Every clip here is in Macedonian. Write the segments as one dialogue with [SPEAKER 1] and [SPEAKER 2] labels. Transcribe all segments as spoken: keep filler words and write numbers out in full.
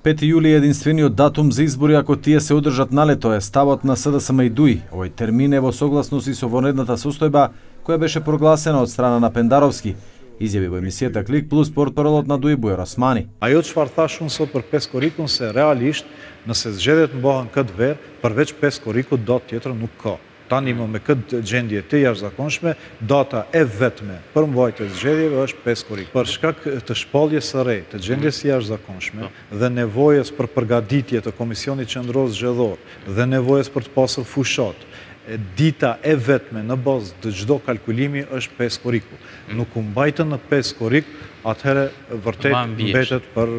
[SPEAKER 1] пети јули е единствениот датум за избори ако тие се одржат налето, е ставот на СДСМ и ДУИ. Овој термин е во согласност и со вонредната состојба која беше прогласена од страна на Пендаровски. Изјави во емисијата Клик Плюс портпаролот на ДУИ Бујар Османи.
[SPEAKER 2] Ajo çfarë thash unë sot për pesë korrikun se realisht nëse zgjedhjet mbohen këtë verë, përveç pesë korrikut dot tjetër nuk ka. Tani më me këtë gjendje të jashtëzakonshme, data e vetme për mbajtje zgjedhjeve është pesë korrik. Për shkak të shpalljes së re, të gjendjes së jashtëzakonshme dhe nevojës për përgatitje të Komisionit Qendror Zgjedhor dhe nevojës për të pasur fushat, dita e vetme në bazë të çdo kalkulimi është pesë korriku. Nuk u mbajtën në pesë korrik, atëherë vërtet mbetet për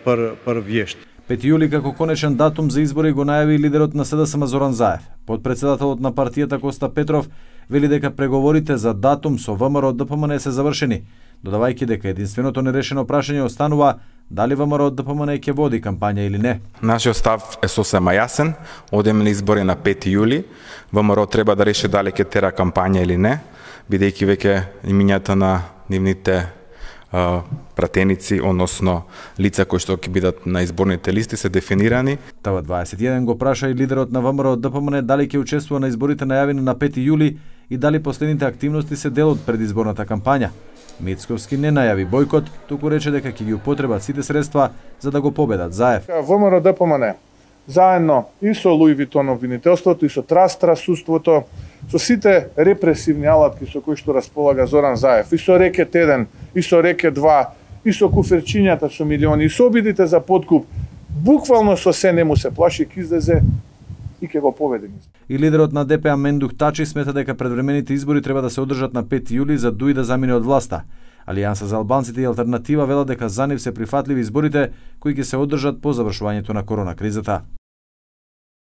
[SPEAKER 2] për për vjesht.
[SPEAKER 1] пети јули како конечен датум за избори го најави лидерот на СДСМ Зоран Заев. Подпредседателот на партијата Коста Петров вели дека преговорите за датум со ВМРО ДПМН се завршени, додавајќи дека единственото нерешено прашање останува дали ВМРО ДПМН ќе води кампања или не.
[SPEAKER 3] Нашиот став е сосема јасен, одеме на избори на пети јули. ВМРО треба да реши дали ќе тера кампања или не, бидејќи веќе имињата на нивните Uh, пратеници, односно лица кои што ќе бидат на изборните листи се дефинирани.
[SPEAKER 1] Тава дваесет и еден го праша и лидерот на ВМРО ДПМН дали ќе учествува на изборите најавени на пети јули и дали последните активности се дел од предизборната кампања. Мицковски не најави бојкот, туку рече дека ќе ги употребат сите средства за да го победат Заев.
[SPEAKER 4] ВМРО ДПМН заедно и со Луи Витон обвинителството и со Траст трасуството, со сите репресивни алатки со кои што располага Зоран Заев, и со Рекет еден, и со Рекет два, и со куферчињата со милиони, и со обидите за подкуп, буквално со се не му се плаши, ќе излезе и ќе го победи.
[SPEAKER 1] И лидерот на ДПА Мендух Тачи смета дека предвремените избори треба да се одржат на пети јули за ДУИ да замине од власта. Алијанса за албанците и Алтернатива велат дека за нив се прифатливи изборите кои ќе се одржат по завршувањето на корона кризата.